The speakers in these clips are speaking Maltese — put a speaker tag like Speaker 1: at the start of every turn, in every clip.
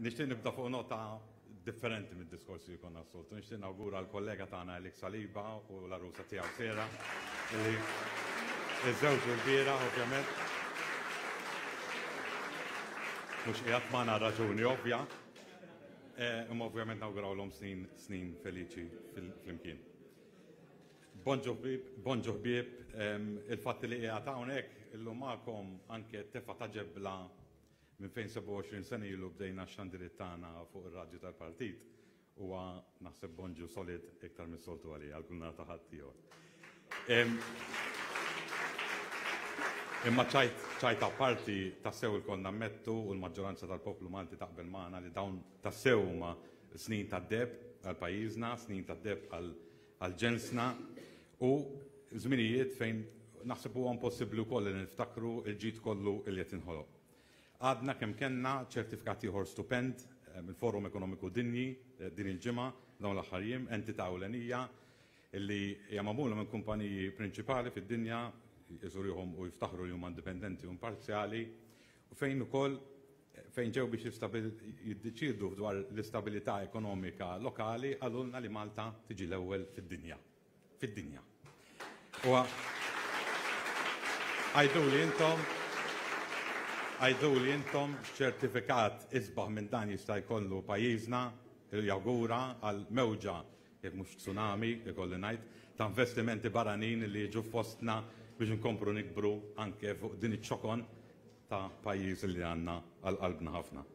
Speaker 1: Nixtieq nibda fuq nota differenti mid-diskorsi li konna s-soltu. Nixtieq nawgura l-kollega tagħna Alex Saliba u l-arusa tiegħu Sera li iż-żewġ il-bieraħ ovvjament. Mhux qiegħed magħna raġuni ovvja. Eh, imma ovvjament nawgurawlhom snin snin feliċi flimkien. Bonġu ħbieb, bonġu ħbieb, il-fatt li qiegħed hawnhekk illum magħkom anke tefa' ta' ġebla Minn fejn 27 sena ilu bdejna x-xandiriet tagħna fuq ir-radju tal-partit huwa naħseb bonġu solid iktar mis-soltu għalija għal kull nhar ta' Ħadd ieħor. Imma ċajt ċajt apparti tassew ilkoll nammettu u l-maġġoranza tal-poplu Malti taqbel magħna li dawn tassew huma snin tad-deheb għal pajjiżna, snin tad-deheb għal ġensna u żminijiet fejn naħseb huwa impossibbli wkoll li niftakru l-ġid kollu li qed jinħoloq. Għadna kemm kellna ċertifikat ieħor stupend mill-Forum Ekonomiku Dinji din il-ġimgħa, dawn l-aħħar jiem, entità ewlenija li hija magħmula minn kumpaniji prinċipali fid-dinja, jżurihom u jiftaħru li huma indipendenti u imparzjali, u fejn ukoll fejn ġew biex jiddeċiedu dwar l-istabilità ekonomika lokali qalulna li Malta tiġi l-ewwel fid-dinja. Fid-dinja. U għajduli intom, għajduli intom x'ċertifikat isbaħ minn dan jista' jkollu pajjiżna jawgura għal mewġa, jekk mhux tsunami, ikolli ngħid, ta' investimenti barranin li jiġu fostna biex inkomplu nikbru anke fuq din iċ-ċokon ta' pajjiż li għandna għal qalbna ħafna.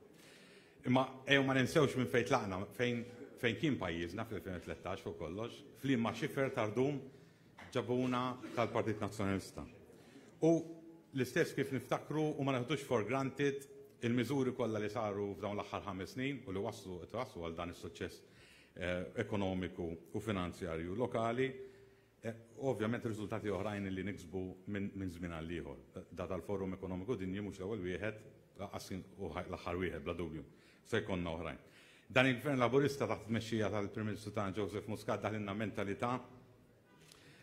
Speaker 1: Imma ejjew ma ninsewx minn fejn tlaqna, fejn fejn kien pajjiżna fl-2013 fuq kollox, f'liema xifer ta' rdum ġabuna tal-Partit Nazzjonalista. U l-istess kif niftakru u ma neħdux for granted il-miżuri kollha li saru f'dawn l-aħħar ħames snin u li wasslu qed iwasslu għal dan is-suċċess eh, ekonomiku u finanzjarju lokali, eh, u ovvjament riżultati oħrajn li niksbu minn żmien għal ieħor. Da tal-Forum Ekonomiku Dinji mhux l-ewwel wieħed, lanqas u l-aħħar wieħed bla dubju. Se jkollna oħrajn. Dan il-Gvern Laburista taħt it-tmexxija tal-Prim Ministru tagħna Joseph Muscat daħlilna mentalità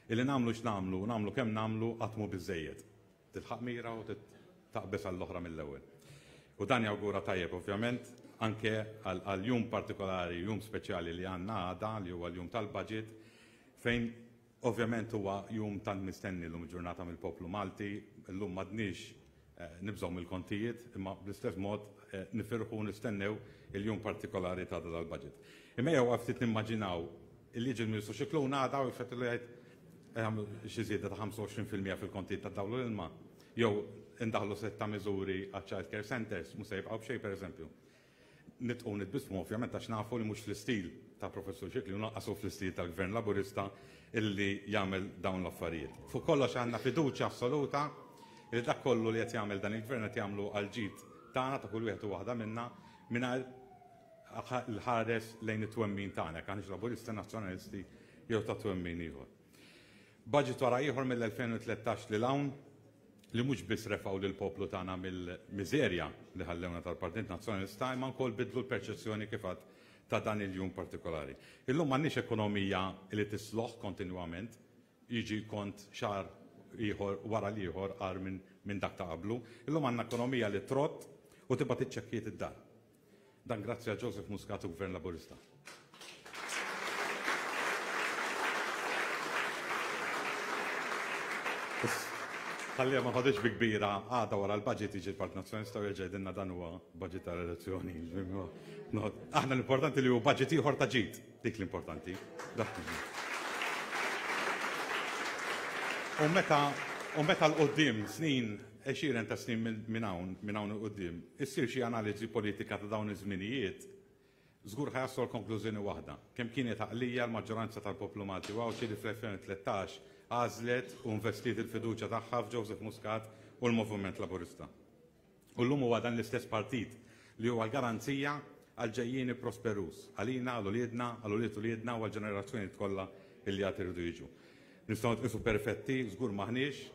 Speaker 1: illi nagħmlu x'nagħmlu u nagħmlu kemm nagħmlu qatt mhu biżżejjed. Tilħaq mira u taqbeż għall-oħra mill-ewwel. U dan jawgura tajjeb ovvjament anke għal jum partikolari, jum speċjali li għandna għada li huwa l-jum tal-budget fejn Ovvjament huwa jum tant mistenni llum il-ġurnata mill-poplu Malti, illum m'għadniex nibżgħu mill-kontijiet, imma bl-istess mod nifirħu u nistennew il-jum partikolari ta' għada tal-budget. Imma ejjew għal ftit nimmaġinaw illi jiġi l-Ministru Scicluna għada u jfettillu jgħid jagħmlu xi żieda ta' 25% fil-kontijiet tad-dawl u l-ilma, jew indaħħlu sett ta' miżuri għaċ-child care centres, mhux se jibqgħu b'xejn pereżempju. Nidħqu u nitbissmu ovvjament għax nafu li mhux fl-istil ta' Professur Scicluna u lanqas hu fl-istil tal-Gvern Laburista illi jagħmel dawn l-affarijiet. Fuq kollox għandna fiduċja assoluta li dak kollu li qed jagħmel dan il-Gvern qed jagħmlu għall-ġid tagħna ta' kull wieħed u waħda minna mingħajr l-ħares lejn it-twemmin tagħna, jekk aħniex Laburisti, Nazzjonalisti jew ta' twemmin ieħor. Budget wara ieħor mill-2013 lil hawn li mhux biss refgħu lill-poplu tagħna mill-miżerja li ħallewna tal-Partit Nazzjonalista imma wkoll biddlu l-perċezzjoni kif għadt ta' dan il-jum partikolari. Illum m'għandniex ekonomija li tisloħ kontinwament, jiġi kont xahar ieħor wara l-ieħor agħar minn dak ta' qablu. Illum għandna ekonomija li trott u tibgħat iċ-ċekkijiet id-dar. Dan grazzi għal Joseph Muscat u Gvern Laburista. Ħalli ma ħadix bi kbira għada wara l-budget jiġi l-Partit Nazzjonalista u jerġa' jgħidilna dan huwa budget tal-elezzjoni. Aħna l-importanti li hu budget ieħor ta' ġid, dik l-importanti. U meta u meta l-qoddim snin Għexieren ta' snin minn hawn, minn hawn 'il quddiem, issir xi analiżi politika ta' dawn iż-żminijiet, żgur ħa jaslu għal konklużjoni waħda, kemm kienet għaqlija l-maġġoranza tal-poplu Malti u Għawdxi li fl-2013 għażlet u investiet il-fiduċja tagħha f'Joseph Muscat u l-Moviment Laburista. U llum huwa dan l-istess partit li huwa l-garanzija għal ġejjieni prosperuż, għalina, għal uliedna, għal ulied uliedna u għall-ġenerazzjonijiet kollha li għad iridu jiġu. Nistgħu nitqiesu perfetti, żgur m'aħniex,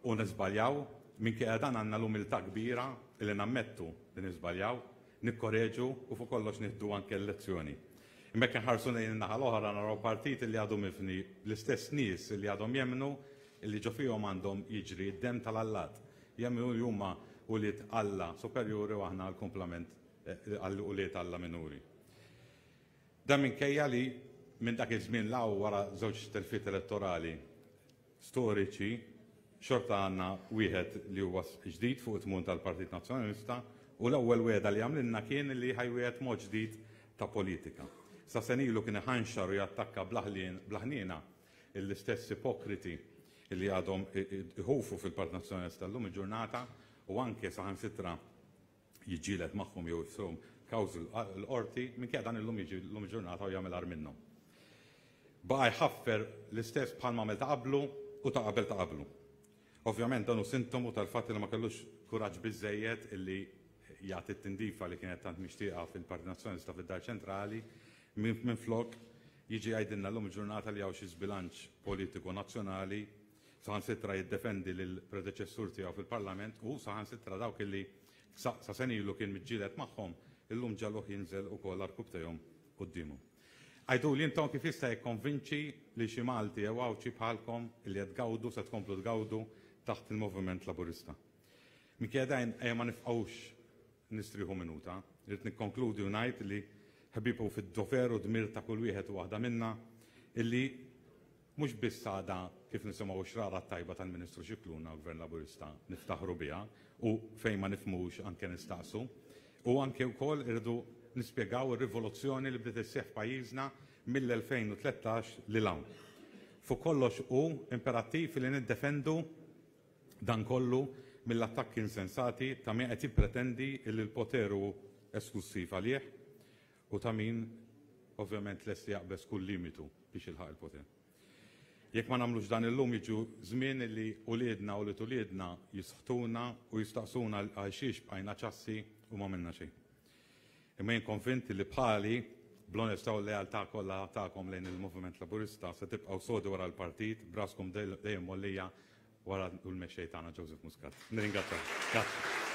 Speaker 1: U niżbaljaw, minkejja dan għandna l-umiltà kbira li nammettu li niżbaljaw, nikkoreġu u fuq kollox nieħdu anke l-lezzjoni. Imma jekk inħarsu lejn in-naħa l-oħra naraw partit li għadu mifni bl-istess nies li għadhom jemmnu li ġo fihom għandhom jiġri d-demm tal-allat. Jemmnu li huma ulied Alla superjuri u aħna l-kumplament. għal ulied Alla minuri. Dan minkejja li minn dak iż-żmien 'l hawn wara żewġ telfiet elettorali storiċi, xorta għandna wieħed li huwa ġdid fuq it-tmun tal-Partit Nazzjonalista u l-ewwel wegħda li għamlilna kien li ħa jwiegħed mod ġdid ta' politika. Sa sena ilu kien iħanxar u jattakka bla ħniena l-istess ipokriti li għadhom iħufu fil-Partit Nazzjonalista llum il-ġurnata u anke saħansitra jiġġieled magħhom jew jfishom kawżi l-qorti, minkejja dan illum jiġi llum il-ġurnata u jagħmel agħar minnhom. Baqa' jħaffer l-istess bħalma għamel ta' qablu u ta' qabel ta' qablu. Ovvjament dan hu sintomu tal-fatt li ma kellux kuraġġ biżżejjed illi jagħti t-tindifa li kienet tant mixtieqa fil-Partit Nazzjonalista fid-Dar Ċentrali, minflok jiġi jgħidilna llum il-ġurnata li hawn xi żbilanċ politiku nazzjonali, saħansitra jiddefendi lill-predeċessur tiegħu fil-Parlament u saħansitra dawk illi sa sena ilu kien miġġieled magħhom, illum ġagħluh jinżel ukoll għarkupptejhom quddiemhom. Għiduli intom kif jista' jikkonvinċi lil xi Malti jew Għawdxi bħalkom illi qed tgawdu, se tkomplu tgawdu taħt il-Moviment Laburista. Minkejja dan ejja ma nifqgħux nistrieħu minuta. Irrid nikkonkludi u ngħid li ħbieb hu fid-dover u dmir ta' kull wieħed u waħda minna illi Mhux biss għada kif nisimgħu x-xrara t-tajba tal-Ministru Scicluna u l-Gvern Laburista niftaħru biha u fejn ma nifhmux anke nistaqsu, u anke wkoll irridu nispjegaw ir-rivoluzzjoni li bdiet isseħħ f'pajjiżna mill-2013 lil hawn. Fuq kollox hu imperattiv li niddefendu dan kollu mill-attakki insensati ta' min qed jippretendi li l-poter hu esklussiv għalih u ta' min ovvjament lest li jaqbeż kull limitu biex jilħaq il-poter. Jekk ma nagħmlux dan illum jiġu żmien li uliedna u ulied uliedna jisħtuna u jistaqsuna għal xiex bqajna ċassi u ma għamilna xejn. Imma jien konvint li bħali bl-onestà u l-lealtà kollha tagħkom lejn il-Moviment Laburista se tibqgħu sodi wara l-partit b'raskom dejjem mgħollija wara l-mexxej tagħna Joseph Muscat. Nirringrazzjakom. Grazzi.